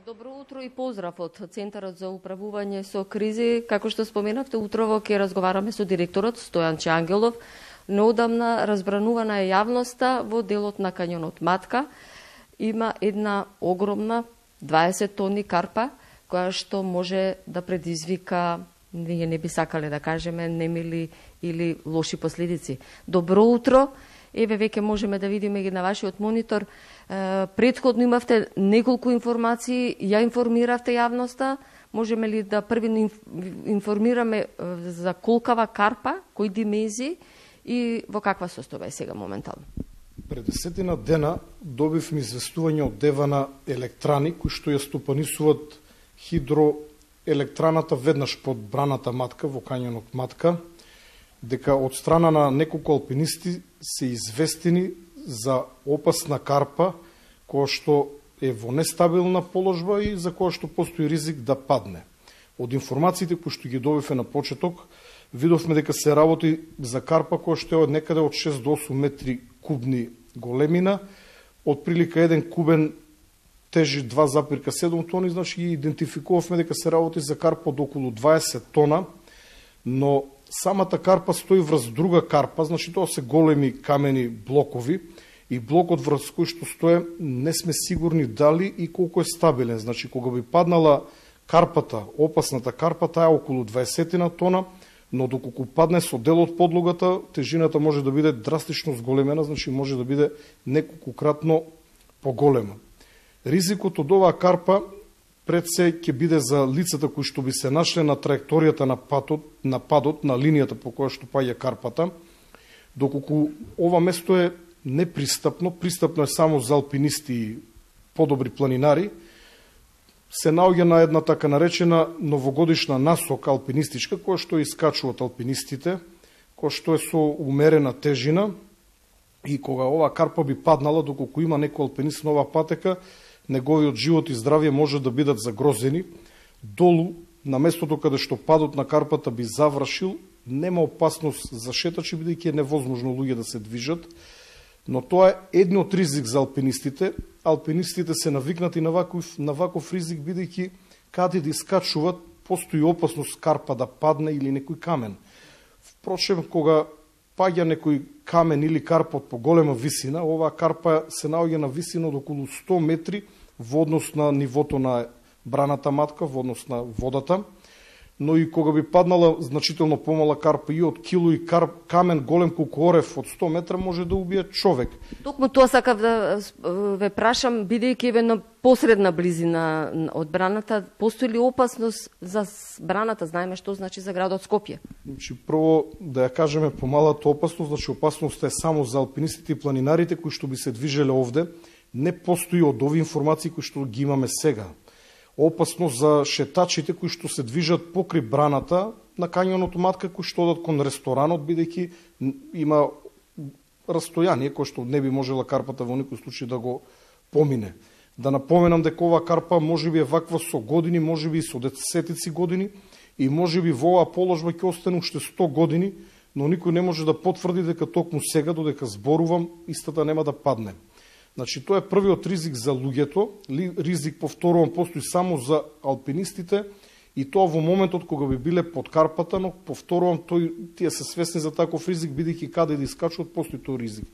Добро утро и поздрав од Центарот за управување со кризи. Како што споменавте, утрово ќе разговараме со директорот Стојанче Ангелов. Неодамна разбранувана е јавноста во делот на кањонот Матка. Има една огромна 20 тони карпа, која што може да предизвика, ние не би сакале да кажеме, немили или лоши последици. Добро утро. Еве веќе можеме да видиме ги на вашиот монитор. Претходно имавте неколку информации, ја информиравте јавноста. Можеме ли да први информираме за колкава карпа, кои димензии и во каква состојба е сега моментално? Пред 10 дена добивме известување од Девана Електрани, кои што ја стопанисуваат хидроелектраната веднаш под браната Матка во кањонот Матка, дека од страна на неколку алпинисти се известени за опасна карпа, која што е во нестабилна положба и за која што постои ризик да падне. Од информациите кои што ги добивме на почеток, видовме дека се работи за карпа која што е од некаде од 6 до 8 метри кубни големина, од прилика 1 кубен тежи 2,7 тони, значи ги идентификувавме дека се работи за карпа од околу 20 тона, но самата карпа стои врз друга карпа, значи тоа се големи камени блокови и блокот врз кој што стои не сме сигурни дали и колку е стабилен. Значи кога би паднала карпата, опасната карпа, таа е околу 20 тона, но доколку падне со дел од подлогата, тежината може да биде драстично зголемена, значи може да биде неколкукратно поголема. Ризикот од оваа карпа пред се ќе биде за лицата кои што би се нашле на траекторијата на падот, на линијата по која што паѓа карпата, доколку ова место е непристапно, пристапно е само за алпинисти и подобри планинари, се наоѓа на една така наречена новогодишна насока алпинистичка, која што искачуваат алпинистите, која што е со умерена тежина, и кога ова карпа би паднала, доколку има некој алпинист на оваа патека, неговиот живот и здравје може да бидат загрозени. Долу, на местото каде што падот на карпата би завршил, нема опасност за шетачи, бидејќи е невозможно луѓе да се движат, но тоа е еден од ризик за алпинистите. Алпинистите се навикнати на ваков ризик, бидејќи каде да искачуват, постои опасност карпа да падне или некој камен. Впрочем, кога паѓа некој камен или карпа од поголема висина, оваа карпа се наоѓа на висина од околу 100 метри во однос на нивото на браната Матка, во однос на водата, но и кога би паднала значително помала карпа и од кило и камен голем колку орев од 100 метра може да убие човек. Токму тоа сакав да ве прашам, бидејќи еве на посредна близина од браната, постои ли опасност за браната? Знаеме што значи за градот Скопје. Значи, прво да ја кажеме помалата опасност, значи опасноста е само за алпинистите и планинарите кои што би се движеле овде, не постои од овие информации кои што ги имаме сега. Опасност за шетачите кои што се движат покри браната на кањонот Матка, кои што одат кон ресторанот, бидејќи има растојание кој што не би можела карпата во никој случај да го помине. Да напоменам дека оваа карпа можеби е ваква со години, можеби и со десетици години и можеби во оваа положба ќе остане уште 100 години, но никој не може да потврди дека токму сега, додека зборувам, истата нема да падне. Значи, тоа е првиот ризик за луѓето, ризик, повторувам, постои само за алпинистите и тоа во моментот кога би биле под карпата, но повторувам, тие се свесни за таков ризик, бидејќи каде да искачуват, постои тој ризик.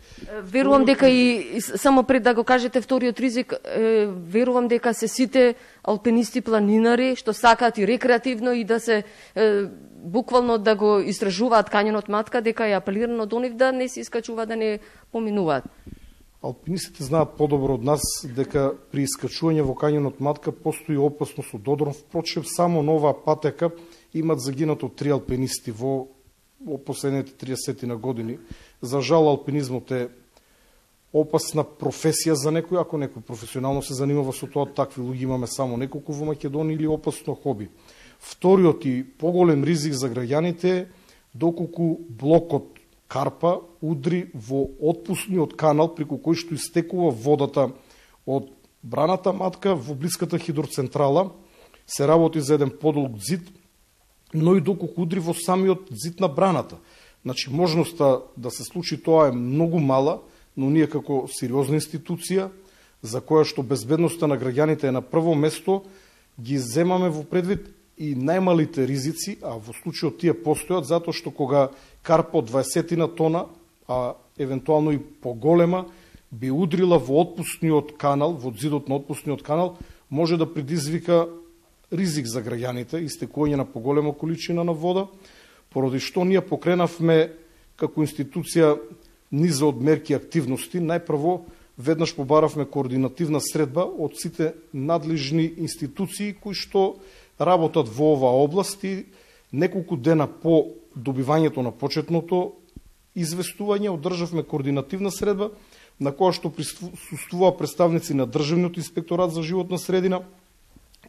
Верувам дека и само пред да го кажете вториот ризик, верувам дека се сите алпинисти планинари што сакаат и рекреативно и да се буквално да го истражуваат кањонот Матка, дека е апелирано до нив да не се искачуваат, да не поминуваат. Алпинистите знаат подобро од нас дека при искачување во кањонот Матка постои опасност од одрон. Впрочем, само на оваа патека имат загинато 3 алпинисти во последните 30 години. За жал, алпинизмот е опасна професија за некој, ако некој професионално се занимава со тоа, такви луѓе имаме само неколку во Македонија, или опасно хоби. Вториот и поголем ризик за граѓаните е доколку блокот карпа удри во отпусниот канал преку кој што истекува водата од браната Матка во блиската хидроцентрала. Се работи за еден подолг зид, но и доколку удри во самиот зид на браната. Значи, можноста да се случи тоа е многу мала, но ние како сериозна институција за која што безбедноста на граѓаните е на прво место, ги земаме во предвид и најмалите ризици, а во случајот тие постојат затоа што кога карпа од 20 тона, а евентуално и поголема, би удрила во отпускниот канал, во зидот на отпускниот канал, може да предизвика ризик за граѓаните, истекување на поголема количина на вода, поради што ние покренавме како институција низа од мерки и активности. Најпрво, веднаш побаравме координативна средба од сите надлежни институции кои што работат во оваа област и неколку дена по добивањето на почетното известување одржавме координативна средба на која што присуствуваа представници на Државниот инспекторат за животна средина,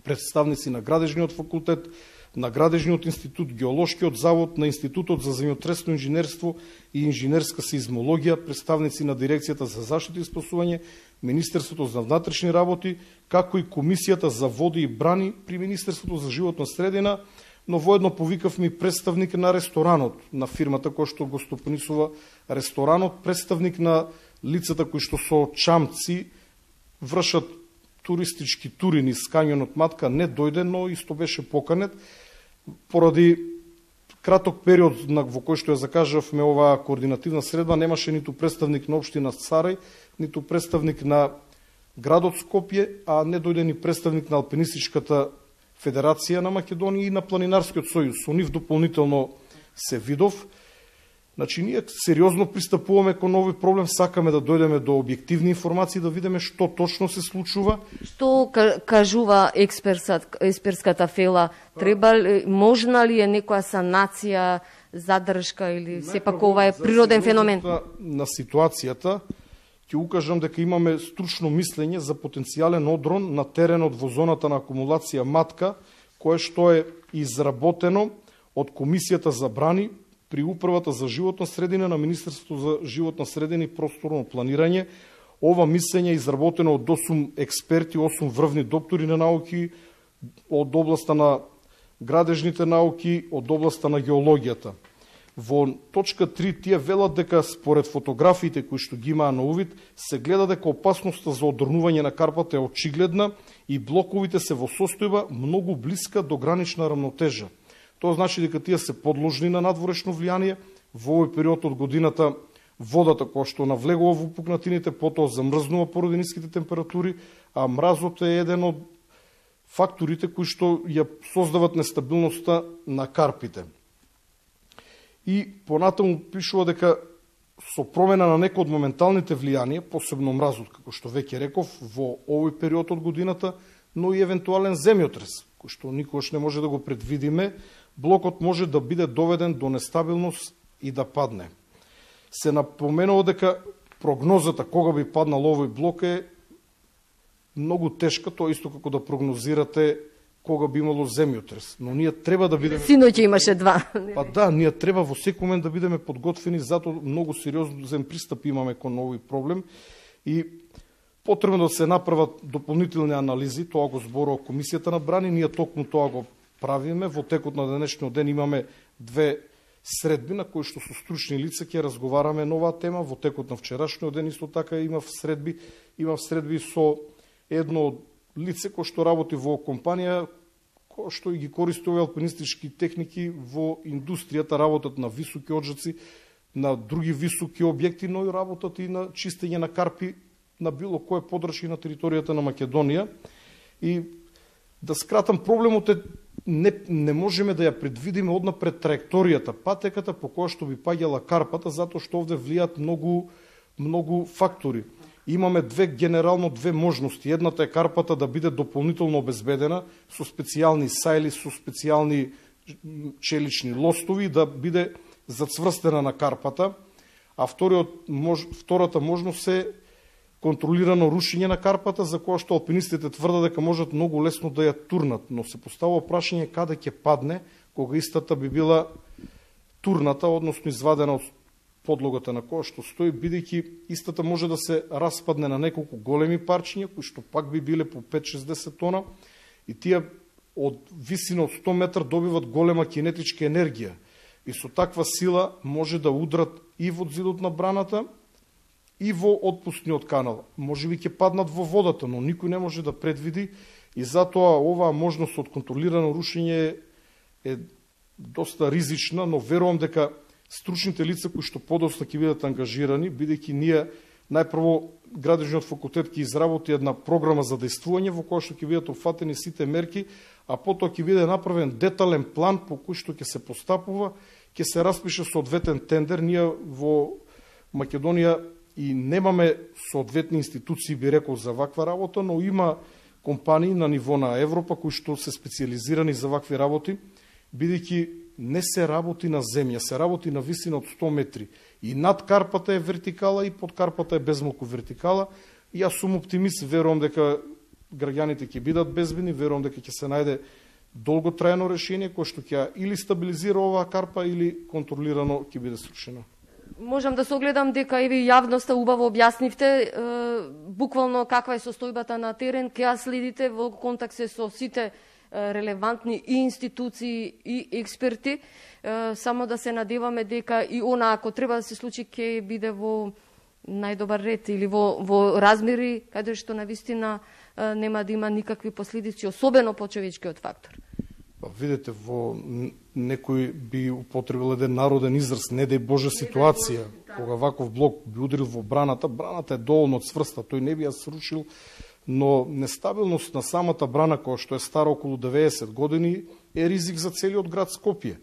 представници на Градежниот факултет, на Градежниот институт, Геолошкиот завод, на Институтот за земјотресно инженерство и инженерска сеизмологија, представници на Дирекцијата за заштита и спасување, Министерството за внатрешни работи, како и Комисијата за води и брани при Министерството за животна средина, но воедно повикавме и представник на ресторанот, на фирмата која што го стопанисува ресторанот, представник на лицата кои што со чамци вршат туристички тури низ кањонот Матка, не дојде, но исто беше поканет. Поради краток период во кој што ја закажавме оваа координативна средба, немаше ниту представник на општина Царај, ниту представник на градот Скопје, а не дојде ни представник на Алпинистичката Федерација на Македонија и на Планинарскиот сојуз. Со нив дополнително се видов. Значи, ние сериозно пристапуваме кон овој проблем, сакаме да дојдеме до објективни информации, да видиме што точно се случува. Што кажува експертската фела? Можна ли е некоја санација, задршка или сепак ова е природен феномен? На ситуацијата ќе укажам дека имаме стручно мислење за потенцијален одрон на теренот во зоната на акумулација Матка, кое што е изработено од Комисијата за брани при Управата за животна средина на Министерството за животна средина и просторно планирање. Ова мислење е изработено од 8 експерти, 8 врвни доктори на науки, од областа на градежните науки, од областа на геологијата. Во точка 3 тие велат дека според фотографиите кои што ги имаа на увид, се гледа дека опасноста за оддрнување на карпата е очигледна и блоковите се во состојба многу блиска до гранична рамнотежа. Тоа значи дека тие се подложни на надворешно влијание. Во овој период од годината водата која што навлегува во пукнатините, потоа замрзнува поради ниските температури, а мразот е еден од факторите кои што ја создават нестабилноста на карпите. И понатаму пишува дека со промена на некои од моменталните влијанија, посебно мразот, како што веќе реков, во овој период од годината, но и евентуален земјотрес, кој што никогаш не може да го предвидиме, блокот може да биде доведен до нестабилност и да падне. Се напоменува дека прогнозата кога би паднал овој блок е многу тешка, тоа исто како да прогнозирате кога би имало земјотрес. Но ние треба да бидеме... Синоќа имаше 2. Па да, ние треба во секој момент да бидеме подготвени, затоа многу сериозен пристап имаме кон овој проблем и потребно да се направат дополнителни анализи, тоа го зборува Комисијата на брани, ние токму тоа го правиме. Во текот на денешниот ден имаме 2 средби на кои што со стручни лица ќе разговараме на оваа тема. Во текот на вчерашниот ден исто така имав средби со едно лице кој што работи во компанија кој што ги користи овие алпинистички техники во индустријата, работат на високи оджаци, на други високи објекти, но и работат и на чистење на карпи на било кое подрачје на територијата на Македонија. И да скратам, проблемот е не можеме да ја предвидиме однапред траекторијата, патеката по која што би паѓала карпата, затоа што овде влијат многу фактори. Имаме генерално две можности. Едната е карпата да биде дополнително обезбедена со специјални сајли, со специјални челични лостови, да биде зацврстена на карпата, а втората можност е контролирано рушење на карпата, за која што алпинистите тврдат дека можат многу лесно да ја турнат, но се поставува прашање каде ќе падне кога истата би била турната, односно извадена од подлогата на која што стои, бидејќи истата може да се распадне на неколку големи парчиња, кои што пак би биле по 5-60 тона, и тие од висина од 100 метра добиват голема кинетичка енергија. И со таква сила може да удрат и во зидот на браната, и во отпускниот канал. Можеби ќе паднат во водата, но никој не може да предвиди и затоа оваа можност од контролирано рушење е доста ризична, но верувам дека стручните лица кои што подоцна ќе бидат ангажирани, бидејќи ние најпрво Градежниот факултет ќе изработи една програма за дејствување во која што ќе бидат опфатени сите мерки, а потоа ќе биде направен детален план по кој што ќе се постапува, ќе се распише соодветен тендер. Ние во Македонија и немаме соодветни институции, би рекол, за ваква работа, но има компании на ниво на Европа кои што се специализирани за вакви работи, бидејќи не се работи на земја, се работи на висина од 100 метри. И над карпата е вертикала и под карпата е безмалку вертикала. И јас сум оптимист, верувам дека граѓаните ќе бидат безбедни, верувам дека ќе се најде долготрајно решение кое што ќе или стабилизира оваа карпа или контролирано ќе биде срушена. Можам да се огледам дека и ви јавноста убаво објаснивте буквално каква е состојбата на терен, ќе ја следите во контакт со сите релевантни и институции и експерти, само да се надеваме дека и она, ако треба да се случи, ќе биде во најдобар ред или во размери каде што навистина нема да има никакви последици, особено по човечкиот фактор. Видете, во некој би употребил еден народен израз, не дај Боже ситуација, кога ваков блок би ударил во браната, браната е доволно цврста, тој не би ја срушил, но нестабилност на самата брана, која што е стара околу 90 години, е ризик за целиот град Скопје.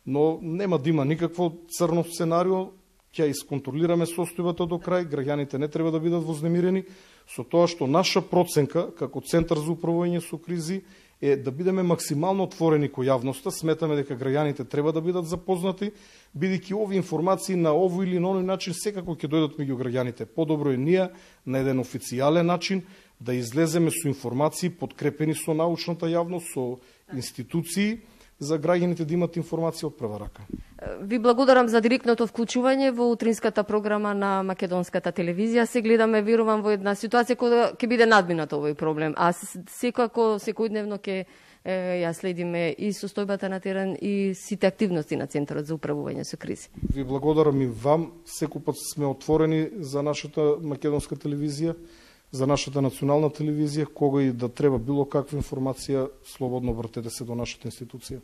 Но нема да има никакво црно сценарио, ќе исконтролираме состојбата до крај, граѓаните не треба да бидат вознемирени, со тоа што наша проценка, како Центар за управување со кризи, е да бидеме максимално отворени кој јавноста. Сметаме дека граѓаните треба да бидат запознати, бидејќи овие информации на овој или на оној начин секако ќе дојдат меѓу граѓаните. Подобро е ние на еден официјален начин да излеземе со информации подкрепени со научната јавност, со институции, за граѓаните да имат информација од прва рака. Ви благодарам за директното вклучување во утринската програма на Македонската телевизија. Се гледаме, верувам, во една ситуација која ќе биде надминат овој проблем, а секако секојдневно ќе ја следиме и состојбата на терен и сите активности на Центарот за управување со кризи. Ви благодарам и вам. Секој пат сме отворени за нашата Македонска телевизија, за нашата национална телевизија, кога и да треба било каква информација, слободно вртете се до нашата институција.